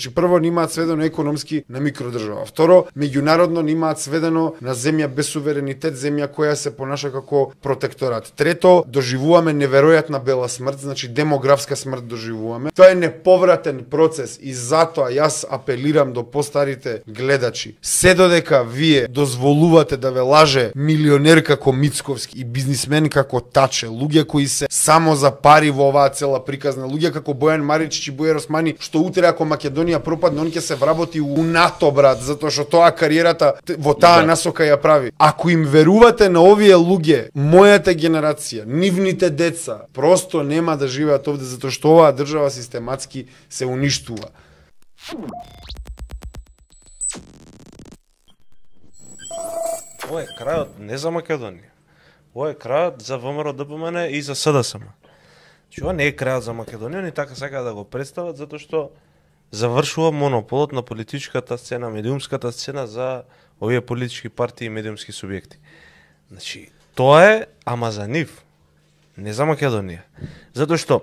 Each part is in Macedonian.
Значи, прво, нимаат сведено економски на микродржава. Второ, меѓународно нимаат сведено на земја без суверенитет, земја која се понаша како протекторат. Трето, доживуваме неверојатна бела смрт, значи демографска смрт доживуваме. Тоа е неповратен процес и затоа јас апелирам до постарите гледачи. Се додека вие дозволувате да ве лаже милионер како Мицковски и бизнисмен како Таче, луѓе кои се само за пари во оваа цела приказна, луѓе како Бојан Маричич и Бојар Османи, што утре ако Македонија пропадне, он ќе се вработи у НАТО, брат, затоа што тоа кариерата во таа насока ја прави. Ако им верувате на овие луѓе, мојата генерација, нивните деца, просто нема да живеат овде, затоа што оваа држава систематски се уништува. Ова е крајот не за Македонија. Ова е крајот за ВМРО ДПМН и за СДСМ. Ова не е крајот за Македонија, ни така сакаат да го представат, затоа што завршува монополот на политичката сцена, медиумската сцена за овие политички партии и медиумски субјекти. Значи, тоа е, ама за нив, не за Македонија. Затоа што,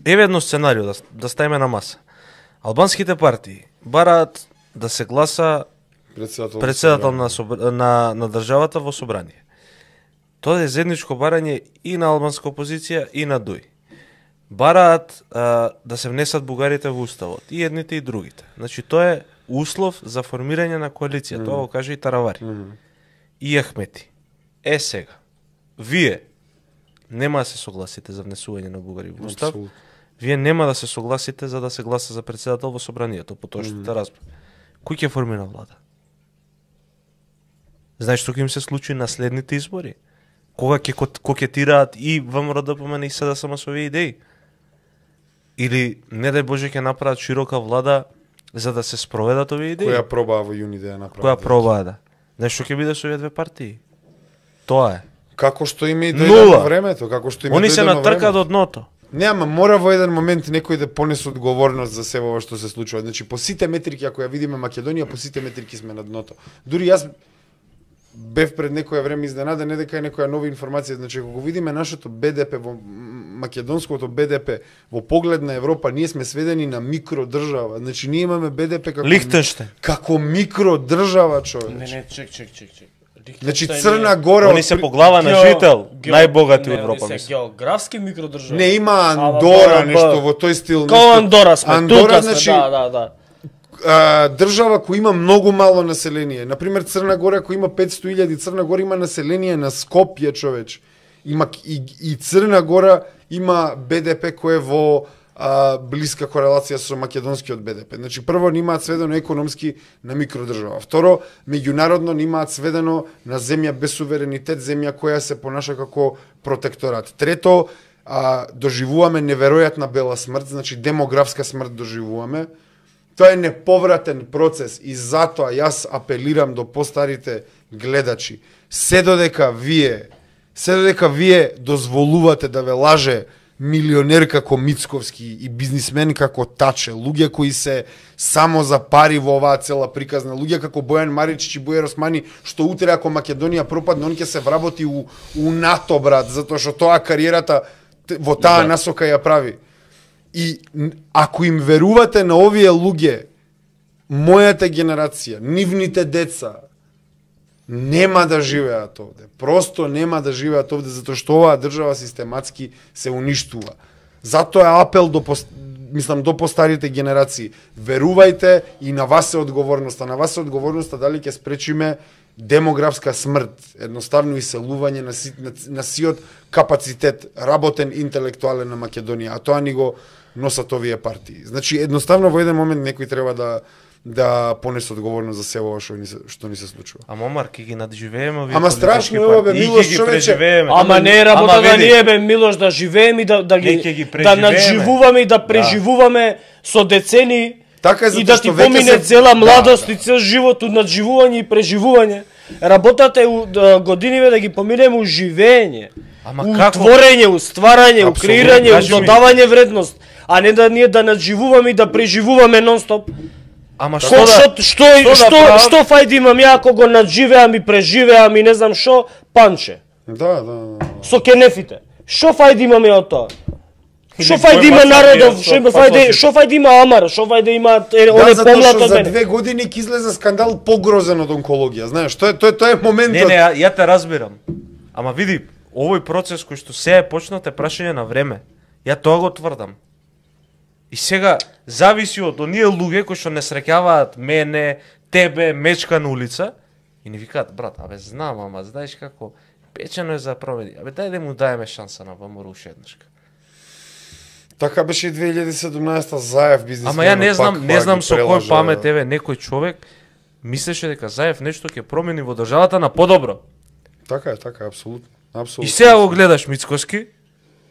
еве едно сценарио да ставиме на маса. Албанските партии бараат да се гласа председател на државата во собрание. Тоа е заедничко барање и на албанска опозиција и на ДУИ. Бараат да се внесат бугарите во уставот, и едните и другите. Значи тоа е услов за формирање на коалиција, тоа го кажа и Таравари. И Ахмети. Сега, вие нема да се согласите за внесување на бугари во устав, вие нема да се согласите за да се гласа за председател во собранието, по тоа што те разбрав. Кој ќе формира влада? Знаеш што ќе им се случи на следните избори? Кога ќе кокетираат и ВМРО ДПМН и СДСМ со овие идеи? Или, не дај Боже, ќе направат широка влада за да се спроведат овие идеи? Која пробаа во јуни да ја направат? Која пробаа, да. Знаеш што ќе биде со овие две партии? Тоа е. Како што им и дојде на времето, како што им Они се натрка до дното. Не, ама мора во еден момент некој да понесе одговорност за се ова што се случува. Значи, по сите метрики, ако ја видиме Македонија, по сите метрики сме на дното. Дури јас бев пред некоја време изненаден, не дека е некоја нова информација, значи ако го видиме нашето БДП во македонското БДП во поглед на Европа, ние сме сведени на микродржава. Значи ние имаме БДП како Лихтенштейн. Како микродржава, човек. Не, чек. Значи Црна Гора, они се по глава на жител, најбогати од Европа, мислам. Географски микродржава. Не има Андора, нешто во тој стил. Као Андора сме, Андора, тука сме, значи, да. Држава која има многу мало население. Например, Црна Гора која има 500.000, Црна Гора има население на Скопје, човеч. Има и Црна Гора има БДП кој е во блиска корелација со македонскиот БДП. Значи, прво, нимаат сведено економски на микродржава. Второ, меѓународно нимаат сведено на земја без суверенитет, земја која се понаша како протекторат. Трето, доживуваме неверојатна бела смрт, значи демографска смрт доживуваме. Тоа е неповратен процес и затоа јас апелирам до постарите гледачи. Се додека вие дозволувате да ве лаже милионер како Мицковски и бизнисмен како Таче, луѓе кои се само за пари во оваа цела приказна, луѓе како Бојан Маричич и Бојар Османи, што утре ако Македонија пропадне, он ќе се вработи у НАТО, брат, затоа што тоа кариерата во таа насока ја прави. И ако им верувате на овие луѓе, мојата генерација, нивните деца, нема да живеат овде. Просто нема да живеат овде, затоа што оваа држава систематски се уништува. Затоа е апел до постарите генерации. Верувајте и на вас е одговорноста. На вас е одговорноста дали ќе спречиме демографска смрт, едноставно иселување на сиот капацитет, работен интелектуален на Македонија, а тоа ни го носат овие партии. Значи, едноставно во еден момент некој треба да понесе одговорност за се ова што ни се случува. Ама Омар, ќе ги надживееме овие. Ама страшно е ова, бе, Милош, човече. Ама не е работа да ние, бе, Милош, да живееме и да надживуваме и да преживуваме со децени и да ти помине цела младост и цел живот од надживување и преживување. Работата е годиниве да ги поминеме у живење, у творење, у стварање, у креирање, у додавање вредност, а не да ние да надживуваме и да преживуваме нон-стоп. Ама што фајди имам ја ако го надживеам и преживеам и не знам шо, панче. Да. Со кенефите. Што фајди имам ја од тоа? Шо фајде има народов, шо фајде има Амар, шо фајде има оне помлад од мене. За 2 години ќе излезе скандал погрозен од онкологија, знаеш, тоа е моментот. Не, ја те разбирам. Ама види, овој процес кој што се е почнат е прашање на време. Ја тоа го тврдам. И сега зависи од оние луѓе кои што не среќаваат мене, тебе, Мечка на улица и ни викаат, брат, абе знам, ама знаеш како печено е за промени. Абе дај да му даеме шанса на ВМРО уште еднашка. Така беше и 2017 Заев бизнисмен. Ама ја не знам со кој памет еве некој човек мислеше дека Заев нешто ќе промени во државата на подобро. Така е, апсолутно. И сега го гледаш Мицкоски,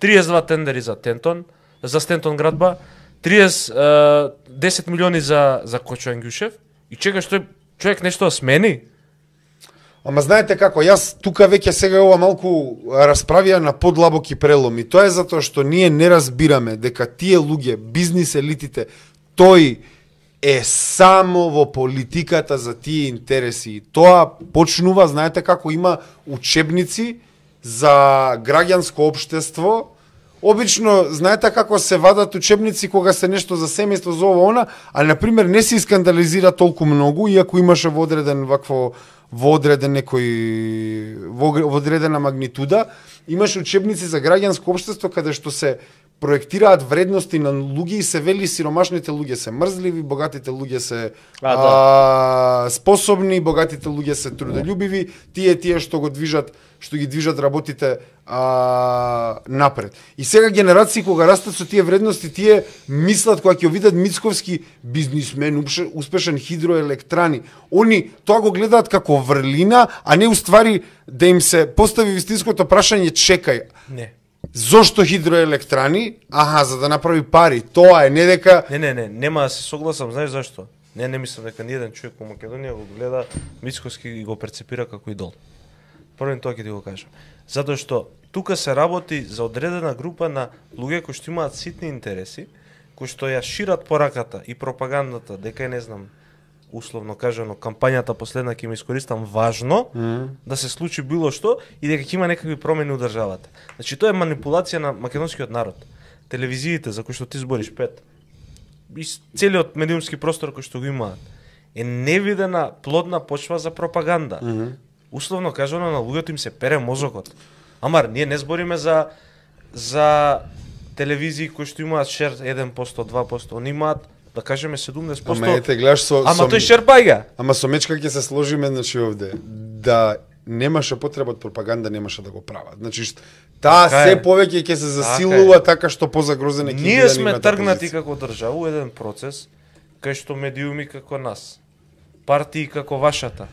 32 тендери за Стентон градба, 10 милиони за Кочо Ангјушев и чекаш тој човек нешто да смени. Ама знаете како, јас тука веќе сега ова малку расправија на подлабоки преломи. Тоа е затоа што ние не разбираме дека тие луѓе, бизнис елитите, тој е само во политиката за тие интереси. Тоа почнува, знаете како, има учебници за граѓанско општество. Обично, знаете како се вадат учебници кога се нешто за семејство, за ова она, а на пример не се скандализира толку многу, иако имаше во одредена магнитуда, имаше учебници за граѓанско општество каде што се проектираат вредности на луѓе и се вели сиромашните луѓе се мрзливи, богатите луѓе се способни, богатите луѓе се трудолюбиви, тие што ги движат работите напред. И сега генерации кога растат со тие вредности, тие мислат кога ќе видат Мицковски бизнисмен, успешен хидроелектрани, они тоа го гледаат како врлина, а не уствари да им се постави вистинското прашање, чекај. Не. Зошто хидроелектрани? За да направи пари. Тоа е, не дека... Не, нема да се согласам, знаеш зашто? Не мислам дека ниеден човек во Македонија го гледа Мицковски и го перцепира како идол. Првен тоа ќе ти го кажам. Затоа што тука се работи за одредена група на луѓе кои што имаат ситни интереси, кои што ја шират пораката и пропагандата, дека не знам, условно кажано, кампањата последна ќе ме искористам важно, да се случи било што и дека ќе има некакви промени у државата. Значи тоа е манипулација на македонскиот народ. Телевизиите за кои што ти збориш 5 и целиот медиумски простор кој што го имаат е невидена плодна почва за пропаганда. Условно кажано, на луѓето им се пере мозокот. Амар, ние не збориме за телевизии кои што имаат шер 1%, 2%, они имаат, да кажеме 70%. Ама ете, гледаш Ама тој шерпајга. Ама со Мечка ќе се сложиме, значи овде, да немаше потреба од пропаганда, немаше да го прават. Значи, таа се повеќе ќе се засилува така што позагрозене ќе бидат. Ние сме тргнати како држава у еден процес кај што медиуми како нас, партии како вашата,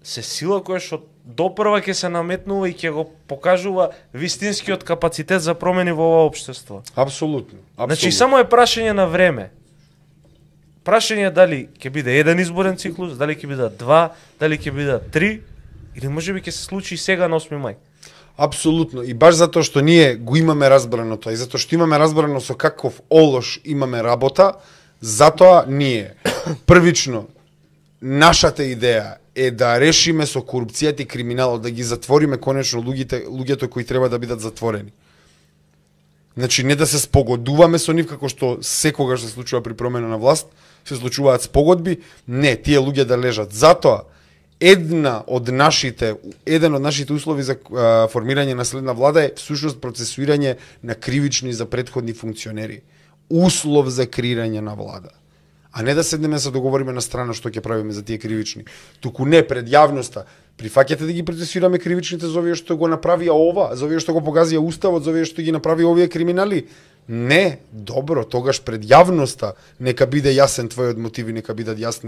се сила која што допрва ќе се наметнува и ќе го покажува вистинскиот капацитет за промени во ова општество. Апсолутно. Значи само е прашање на време. Прашање дали ќе биде еден изборен циклус, дали ќе биде 2, дали ќе биде 3 или можеби ќе се случи и сега на 8 мај. Апсолутно. И баш затоа што ние го имаме разбрано тоа и затоа што имаме разбрано со каков олош имаме работа, затоа ние првично нашата идеја е да решиме со корупцијата и криминалот, да ги затвориме конечно луѓето кои треба да бидат затворени. Значи не да се спогодуваме со нив како што секогаш се случува при промена на власт, се случуваат спогодби, не, тие луѓе да лежат. Затоа еден од нашите услови за формирање на следна влада е всушност процесуирање на кривични за претходни функционери. Услов за креирање на влада. А не да седнеме се договориме на страна што ќе правиме за тие кривични. Туку не пред јавноста. Прифаќате да ги процесираме кривичните за овие што го направија ова, за овие што го погазија уставот, за овие што ги направи овие криминали. Не, добро, тогаш пред јавноста нека биде јасен твојот мотиви, нека бидат јасни